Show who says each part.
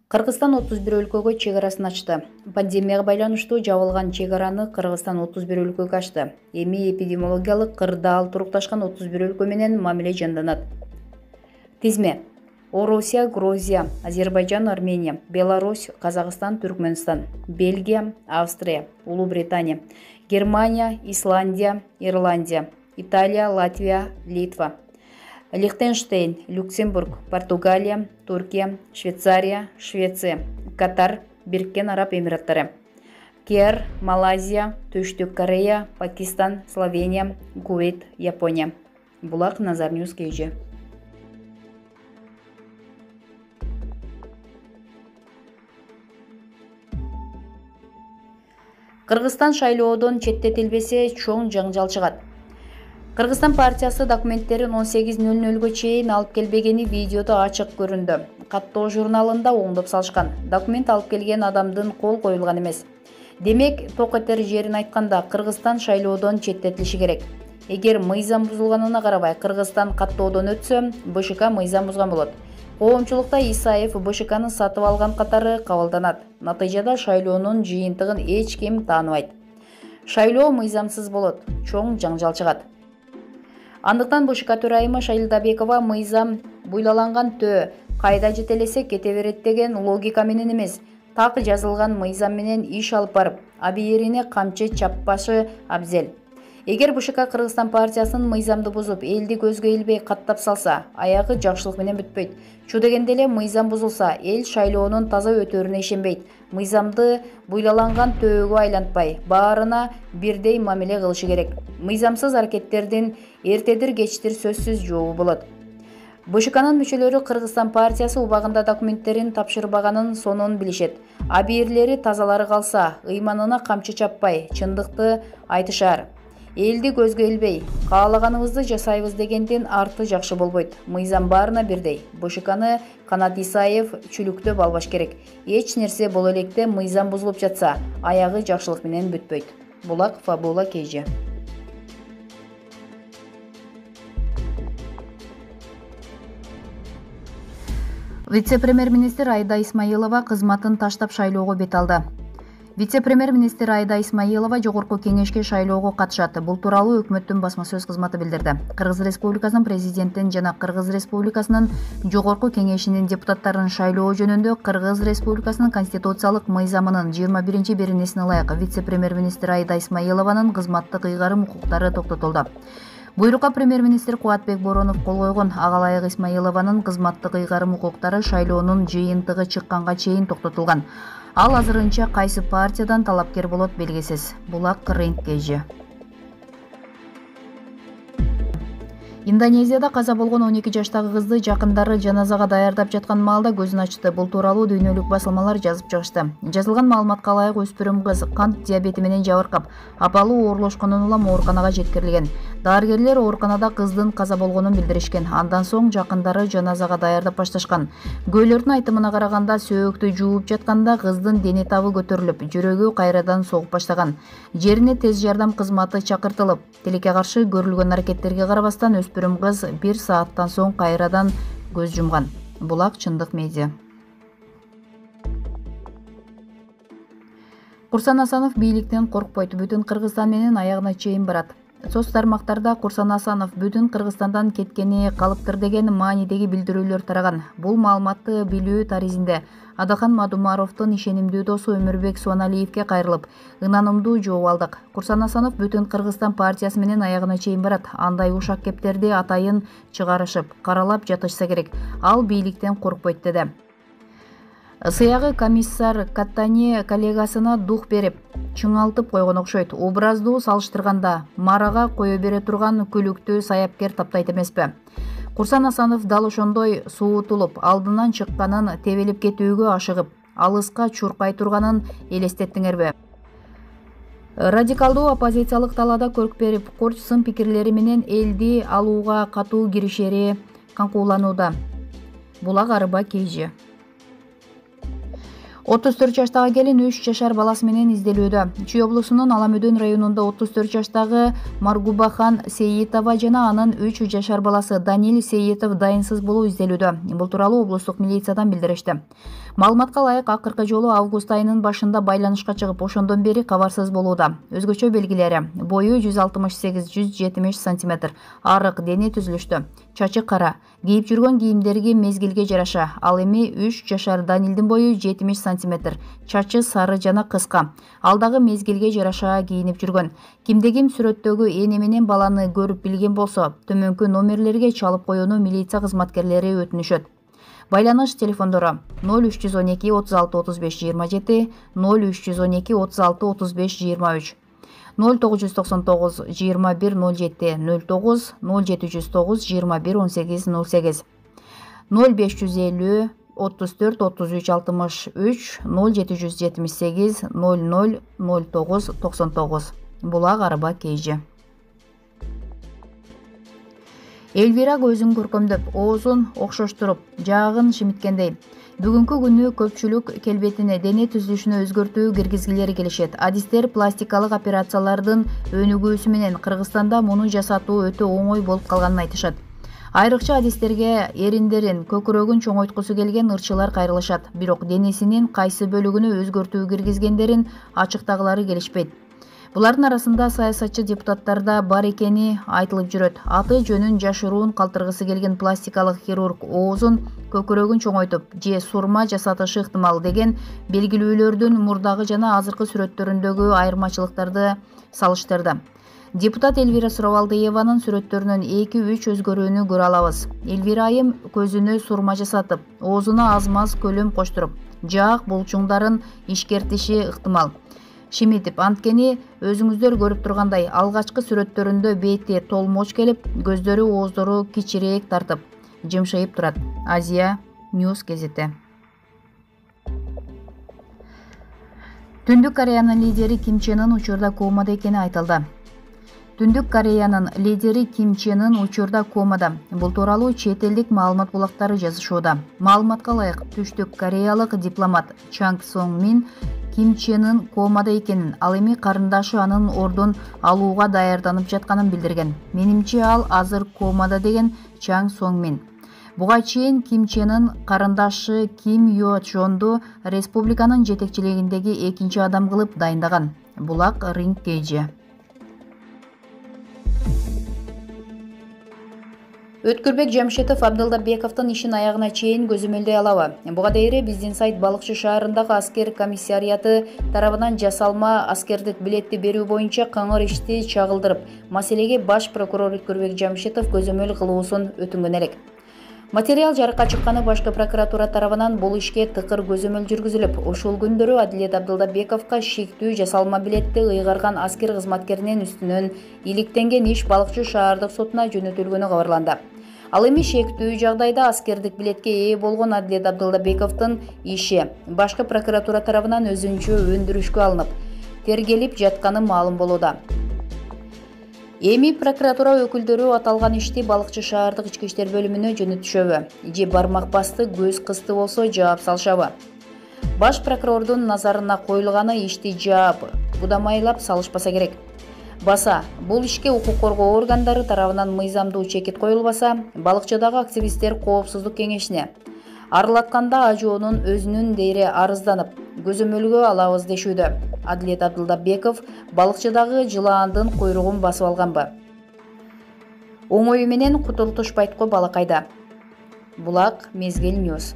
Speaker 1: Кыргызстан 31 өлкөгө чек арасын ачты. Пандемияга байланыштуу жабылган чек араны Кыргызстан 31 өлкөгө ачты. Эми эпидемиологиялык кырдаал турукташкан 31 өлкө менен мамиле жанданат. Тизме: Орусия, Грузия, Азербайжан, Армения, Беларусь, Казакстан, Түркмөнстан, Бельгия, Австрия, Улуу Британия, Германия, Исландия, Ирландия, Италия, Латвия, Литва, Лихтенштейн, Люксембург, Португалия, Туркия, Швейцария, Швеция, Катар, Бириккен Араб Эмираттары, КР, Малайзия, Түштүк Корея, Пакистан, Словения, Кувейт, Япония. Булак Назар Ньюс KG. Кыргызстан шайлоодон четтетилбесе чоң жаңжал чыгат. Кыргызстан партиясы документтерин 18:00 чейин алып келбегени видеодо ачык көрүндү. Каттоо журналында оңдоп салышкан. Документ алып келген адамдын кол коюлган эмес. Демек, ток этер жерин айтканда Кыргызстан шайлоодон четтетилиши керек. Эгер мыйзам бузулганына карабай Кыргызстан каттоодон өтсө, БШК мыйзам бузган болот. Коомчулукта Исаев БШКны сатып алган катары кабылданат. Натыйжада шайлоонун жыйынтыгын эч ким тааныбайт. Шайлоо мыйзамсыз болот, чоң жаңжал чыгат. Андыктан БШК төрайымы Шайлдабекова мыйзам буйлаланган төө кайда жетелесе кете берет деген логика менен эмес, так жазылган мыйзам менен иш алып барып, абийирине камчы чаппашы абзел. Эгер БШК Кыргызстан партиясынын мыйзамды бузуп, элди көзгө илбей каттап салса, аягы жакшылык менен бүтпөйт. Чу дегенде эле мыйзам бузулса, эл шайлоонун таза өтөрүнө ишенбейт. Мыйзамды буйлаланган төөгө айлантпай, баарына бирдей мамиле кылышы керек. Мыйзамсыз аракеттердин эртедир кечтир сөзсүз жообу болот. БШКнын мүчөлөрү Кыргызстан партиясы убагында документтерин тапшырбаганын сонун билишет. Абийирлери тазалары калса, ыйманына камчы чаппай, чындыкты айтышар. Элди көзгө илбей, каалаганыбызды жасайбыз дегендин арты жакшы болбойт. Мыйзам баарына бирдей. БШКны Канат Исаев чүлүктөп албаш керек. Эч нерсе боло электе мыйзам бузулуп жатса, аягы жакшылык менен бүтпөйт. Булак Фабула KG. Вице-премьер-министр Айда Исмаилова кызматын таштап шайлоого бет алды. Вице-премьер-министр Айда Исмаилова жогорку кеңешке шайлоого катышат. Бул тууралуу өкмөттүн басма сөз кызматы билдирди. Кыргыз Республикасынын президентин жана Кыргыз Республикасынын жогорку кеңешинин депутаттарын шайлоо жөнүндө Кыргыз Республикасынын конституциялык мыйзамынын 21-беренесине ылайык вице-премьер-министр Айда Исмаилованын кызматтык ыйгарым укуктары токтотулду. Буйрукка премьер-министр Кубатбек Боронов кол койгон. Ага ылайык Исмаилованын кызматтык ыйгарым укуктары шайлоонун жыйынтыгы чыкканга чейин токтотулган. Ал азырынча кайсы партиядан талапкер болот белгисиз. Булак Рейнт KG. Индонезияда каза болгон 12 жаштагы кызды жакындары жаназага даярдап жаткан маалда көзүн ачты. Бул тууралуу дүйнөлүк басылмалар жазып чыгышты. Жазылган маалыматка ылайык өспүрүм кыз кант диабети менен жабыркап, абалы оорлошкондон улам ооруканага жеткирилген. Дарыгерлер ооруканада кыздын каза болгонун билдиришкен. Андан соң жакындары жаназага даярдап башташкан. Күбөлөрдүн айтымына караганда, сөөктү жууп жатканда кыздын дене табы көтөрүлүп, жүрөгү кайрадан согуп баштаган. Жерине тез жардам кызматы чакыртылып, тилекке каршы көрүлгөн аракеттерге карабастан өспүрүм кыз 1 сааттан соң кайрадан көз жумган. Булак Чындык медиа. Курсан Асанов бийликтен коркпойт. Бүтүн Кыргызстан менен аягына чейин барат. Соц тармактарда Курсан Асанов бүтүн Кыргызстандан кеткени калыптыр деген маанидеги билдирүүлөр тараган. Бул маалыматты билүү таризинде Адахан Мадумаровдун ишенимдүү досу Өмүрбек Суаналиевке кайрылып, ынанымдуу жооп алдык. Курсан Асанов бүтүн Кыргызстан партиясы менен аягына чейин барат. Андай ушак кептерди атайын чыгарышып, каралап жатышса керек. Ал бийликтен коркпойт деди. Сыягы комиссар Каттани коллегасына дух берип, чыңалтып койгон окшойт. Образдуу салыштырганда марага кое бере турган күлүктүү саяпкер таптайт эмеспи? Курсан Асанов дал ошондой суутулуп, алдынан чыкканын, тебелип кетүүгө ашыгып, алыска чуркай турганын элестеттиңерби? Радикалдуу оппозициялык талаада көрк берип, курч сын пикирлери менен элди алууга катуу киришери каңкууланууда. Булак Арба KG. 34 жаштагы келин 3 жашар баласы менен изделүүдө. Чүй облусунун Аламөдөн районунда 34 жаштагы Маргубахан Сейитова жана анын 3 жашар баласы Данил Сейитов дайынсыз болуу изделүүдө. Бул тууралуу облустук милициядан билдиришти. Маалыматка ылайык, акыркы жолу август айынын башында байланышка чыгып, ошондон бери кабарсыз болууда. Өзгөчө белгилери: бою 168-170 см, арык дене түзүлүштө, чачы кара, кийип жүргөн кийимдерги мезгилге жараша. Ал эми 3 жашар Данилдин бою 70 см, чачы сары жана кыска. Ал дагы мезгилге жараша кийинип жүргөн. Кимде ким сүрөттөгү эне менен баланы көрүп билген болсо, төмөнкү номерлерге чалып коюуну милиция кызматкерлери өтүнүшөт. Байланыш телефондору 0312 36 35 27, 0312 36 35 23, 0999 21 07 09, 0709 21 18 08, 0550 34 33 63, 0778 00 09 99. Булак Арба Кейжи. Элвира көзүн көркөмдөп, оозун окшоштуруп, жаагын шимиткендей. Бүгүнкү күнү көпчүлүк келбетине, дене түзүлүшүнө өзгөртүү киргизгилери келишет. Адистер пластикалык операциялардын өнүгүүсү менен Кыргызстанда муну жасатуу өтө оңой болуп калганын айтышат. Айрыкча адистерге эриндерин, көкүрөгүн чоңойткусу келген ырчылар кайрылышат. Бирок денесинин кайсы бөлүгүнө өзгөртүү киргизгендерин ачыктагылары келишпейт. Булардын арасында саясатчы депутаттар да бар экени айтылып жүрөт. Аты жөнүн жашыруун калтыргысы келген пластикалык хирург оозун, көкүрөгүн чоңойтуп же сурма жасатышы ыктымал деген белгилүүлөрдүн мурдагы жана азыркы сүрөттөрүндөгү айырмачылыктарды салыштырды. Депутат Элвира Суравалдыеванын сүрөттөрүнөн 2-3 өзгөрүүнү көрө алабыз. Элвира айым көзүнө сурма жасатып, оозуна аз-маз көлөм коштуруп, жаак булчуңдарын ишкертиши ыктымал. Шимитип, анткени өзүңүздөр көрүп тургандай, алгачкы сүрөттөрүндө бети толмоч келип, көздөрү, ооздору кичирээк тартып, жымшайып турат. Азия Ньюс газети. Түндүк Кореянын лидери Ким Чен Ын учурда комада экени айтылды. Түндүк Кореянын лидери Ким Чен Ын учурда комада. Бул тууралуу чет элдик маалымат булактары жазышууда. Маалыматка ылайык, түштүк кореялык дипломат Чанг Сонг Мин Ким Чен Ын комада экенин, ал эми карындашы анын ордун алууга даярданып жатканын билдирген. Менимче ал азыр комада, деген Чанг Сонг Мин. Буга чейин Ким Чен Ын карындашы Ким Йо Чонду республиканын жетекчилигиндеги экинчи адам кылып дайындаган. Булак Ринг Кейжи. Өткүрбек Жамшитов Абдылдабековдун ишин аягына чейин көзөмөлдөй алабы? Буга дейре биздин сайт Балыкчы шаарындагы аскер комиссариаты тарабынан жасалма аскердик билетти берүү боюнча кыңыр ишти чагылдырып, маселеге баш прокурор Өткүрбек Жамшитов көзөмөл кылуусун өтүнгөн элек. Материал жарыкка чыкканы башкы прокуратура тарабынан бул ишке тыкыр көзөмөл жүргүзүлүп, ушул күндөрү Адилет Абдылдабековго шектүү жасалма билетти ыйгарган аскер кызматкеринин үстүнөн иликтенген иш Балыкчы шаардык сотуна жөнөтүлгөнү кабарланды. Ал эми шектүү жагдайда аскердик билетке ээ болгон Адилет Абдылдабековдун иши башкы прокуратура тарабынан өзүнчө өндүрүшкө алынып, тергелип жатканы маалым болууда. Эми прокуратура өкүлдөрү аталган ишти Балыкчы шаардык ички иштер бөлүмүнө жөнөтүшөбү же бармак басты, көз кысты болсо жаап салышабы? Баш прокурордун назарына коюлганы ишти жаап, будамайлап салышпаса керек. Баса, бул ишке укук коргоо органдары тарабынан мыйзамдуу чекит коюлбаса, Балыкчыдагы активисттер коопсуздук кеңешине арылатканда ажоонун өзүнүн дейре арызданып, көзөмөлгө алабыз дешүүдө. Адилет Абдылдабеков Балыкчыдагы жылаандын куйругун басып алганбы? Оңою менен кутултушпайт го балакайда. Булак Мезгил Ньюс.